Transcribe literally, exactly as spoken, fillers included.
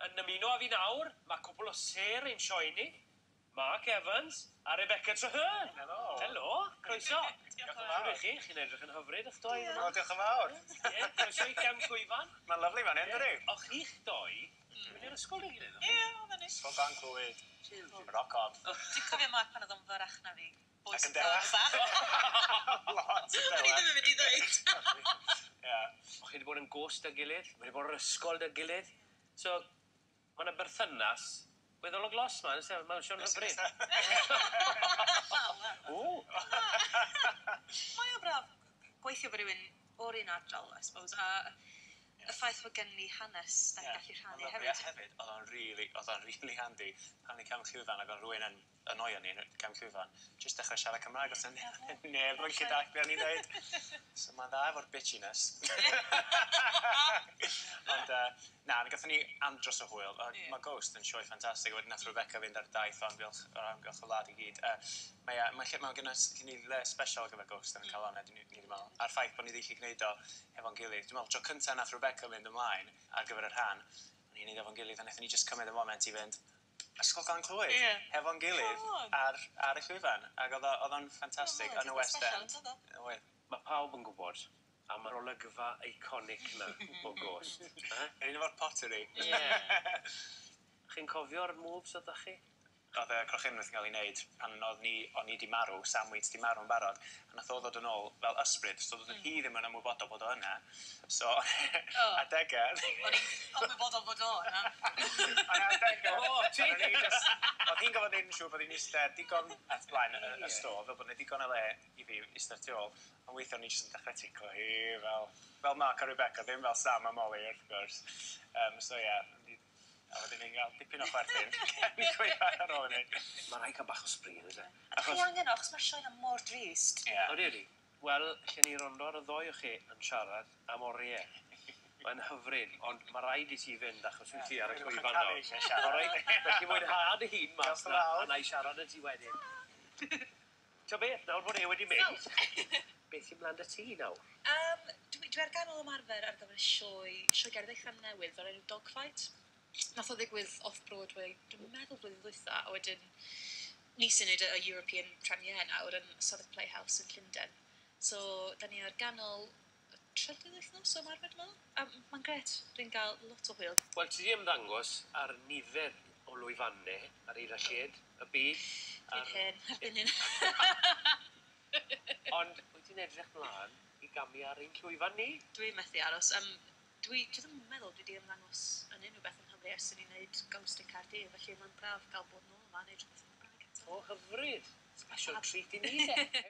Yn ymuno â fi nawr, mae cwpl o sêr ein sioe ni. Mark Evans a Rebecca Trehearn. Helo. Helo, croeso. Diolch yn fawr. Shwd 'ych chi? Chi'n edrych yn hyfryd 'ych dou. O, diolch yn fawr. Ie, croeso i Gefn Llwyfan. Mae'n lyfli fan hyn, dydi? O'ch chi'ch dou, mynd i'r ysgol 'da'i gilydd, o'ch chi? Ie, oedd yn Ysgol Glan Clwyd. Rock on. Dwi'n cofio Mark pan oedd o'n fyrrach na fi. Ac yn dewach. Lot yn O'n i ddim yn mynd i ddweud. Ie. O'ch chi wedi bod yn ghost 'da'i gilydd, wedi bod yn ysgol 'da'i gilydd. So, ma' 'na berthynas weddol o glos 'ma, on'd o's e? Mae'n swnio'n hyfryd. O! Mae o braf gweithio efo rhywun o'r un ardal, I suppose, a y ffaith bod gen ni hanes da ni'n gallu rhannu Mae'n lyfli, a hefyd. hefyd, oedd o'n really, oedd o'n really handy pan ni cefn llwyfan ac oedd rhywun yn annoio ni yn cefn llwyfan, jyst dechrau siarad Cymraeg os neb yn gallu dallt be o'n i'n dweud. So mae'n dda efo'r bitchiness. Ond uh, na, gathon ni andros o hwyl. Uh, Ie. Mae Ghost yn sioe ffantastig. Wedyn nath Rebecca fynd ar daith o amgylch, o'r amgylch y wlad i gyd. Uh, mae, uh, mae, lle, mae gen ni le special ar gyfer Ghost yn mm. Calon, ni, ni wedi meddwl. A'r ffaith bod ni wedi gallu gwneud o efo'n gilydd. Dwi'n meddwl, tro cyntaf nath Rebecca fynd ymlaen ar gyfer y rhan, o'n i'n neud efo'n gilydd, a wnaethon ni just cymryd y moment i fynd Ysgol Glan Clwyd, Ie. efo'n gilydd Come on. ar, ar y llwyfan. Ac oedd o- oedd o'n ffantastig Oedd yn y West special, End. yn doedd o? Oedd. Mae pawb yn gwybod am yr olygfa iconic 'na o Ghost. Eh? Yr un efo'r pottery. Ie. Chi'n cofio'r moves oedd chi? Oedd y crochenwaith yn cael ei wneud pan oedd ni, o'n i di marw, Sam Wheat di marw yn barod, a nath o ddod yn ôl fel ysbryd, so oedd hi ddim yn ymwybodol bod o yna. So, adegau... O'n i'n ymwybodol bod o yna. Ond adegau... O, ti? O'n i just- Oedd hi'n gofod neud yn siŵr bod hi'n eistedd digon at blaen y, y stôl, fel bod 'na digon o le i fi eistedd tu ôl. Ond weithio o'n i jyst yn dechrau ticlo hi fel, fel Mark a Rebecca, ddim fel Sam a Molly wrth gwrs. Um, so ie, yeah, a wedyn ni'n cael dipyn o chwerthin. Ni'n gweithio ar ôl hynny. Mae rhaid cael bach o sbri, yn oes e? A chi angen o, achos mae'r sioe yna mor drist. Ie. Odi, odi. Wel, lle ni rondo ar y ddoi o chi yn siarad am oriau. Mae'n hyfryd, ond mae rhaid i ti fynd achos wyt ti ar y Dwi'n llwyfan caru nawr. eisiau siarad. Alright, felly mwynha dy hun mas Diolch yn na, fawr. a na i siarad â ti wedyn. Ti'n beth, nawr bod e wedi mynd, beth sy'n mlaen 'da ti nawr? Um, dwi, dwi ar ganol ymarfer ar gyfer sioe, sioe gerdd eitha newydd o'r enw Dogfight. Nath o ddigwydd off-Broadway, dwi'n meddwl blwyddyn ddwytha, a wedyn ni sy'n neud y y European premiere nawr yn Southwark Playhouse yn Llundain. So, da ni ar ganol y trydydd wythnos o ymarfer, dwi'n meddwl. A mae'n gret, dwi'n cael lot o hwyl. Wel, ti 'di ymddangos ar nifer o lwyfannau ar hyd a lled y byd. Dwi'n ar- hen erbyn hyn. Ond wyt ti'n edrych mlaen i gamu ar ein llwyfan ni? Dwi'n methu aros. Um, dwi, dwi ddim yn meddwl dwi wedi ymddangos yn unrhyw beth yng Nghymru ers i ni wneud Ghost yn Caerdydd, felly mae'n braf gael bod nôl yma a neud rhywbeth yn Gymraeg eto. O, hyfryd. Special treat i ni, de.